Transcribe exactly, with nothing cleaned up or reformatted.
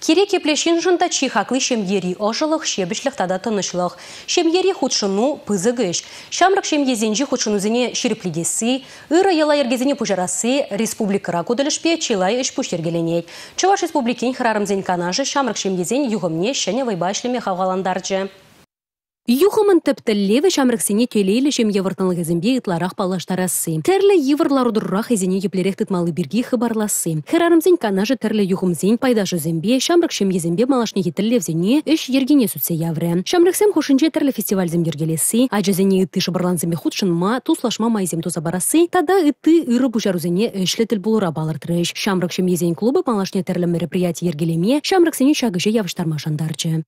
Кирек епле ҫыншӑн та чи хакли ҫемьери ӑшӑлӑх, ҫепӗҫлӗх тата тӑнӑҫлӑх. Ҫемьери хутшӑну пысӑк ӗҫ. Ҫамрӑк ҫемьесенчи хутшӑнусене ҫирӗплетесси, ырӑ йӑла-йӗркесене пуҫарасси республикӑра ку тӗлӗшпе чылай ӗҫ-пуҫ йӗркеленет. Чӑваш Республикин хӗрарӑмсен канашӗ ҫамрӑк ҫемьесен юхӑмне ҫӗнӗ вӑйпа ӗҫлеме хавхалантарчӗ. Юхӑмӑн тӗп тӗллевӗ ҫамрӑксене телейлӗ ҫемье вӑрттӑнлӑхӗсемпе ытларах паллаштарасси. Тӗрлӗ йывӑр лару-тӑрура хӑйсене еплерех тытмалли пирки хыпарласси. Хӗрарӑмсен канашӗ тӗрлӗ юхӑмсен пайташӗсемпе, ҫамрӑк ҫемьесемпе малашнехи тӗллевсене ӗҫ йӗркине сӳтсе яврӗ. Ҫамрӑксем хушшинче тӗрлӗ фестивальсем йӗркелесси, ачасене ытти шӑпӑрлансемпе хутшӑнма, туслашма майсем туса парасси тата ытти ырӑ пуҫарусене ӗҫлӗ тӗлпулура палӑртрӗҫ. Ҫамрӑк ҫемьесен клубӗ малашне тӗрлӗ мероприяти йӗркелеме, ҫамрӑксене ҫак ӗҫе явӑҫтарма шантарчӗ.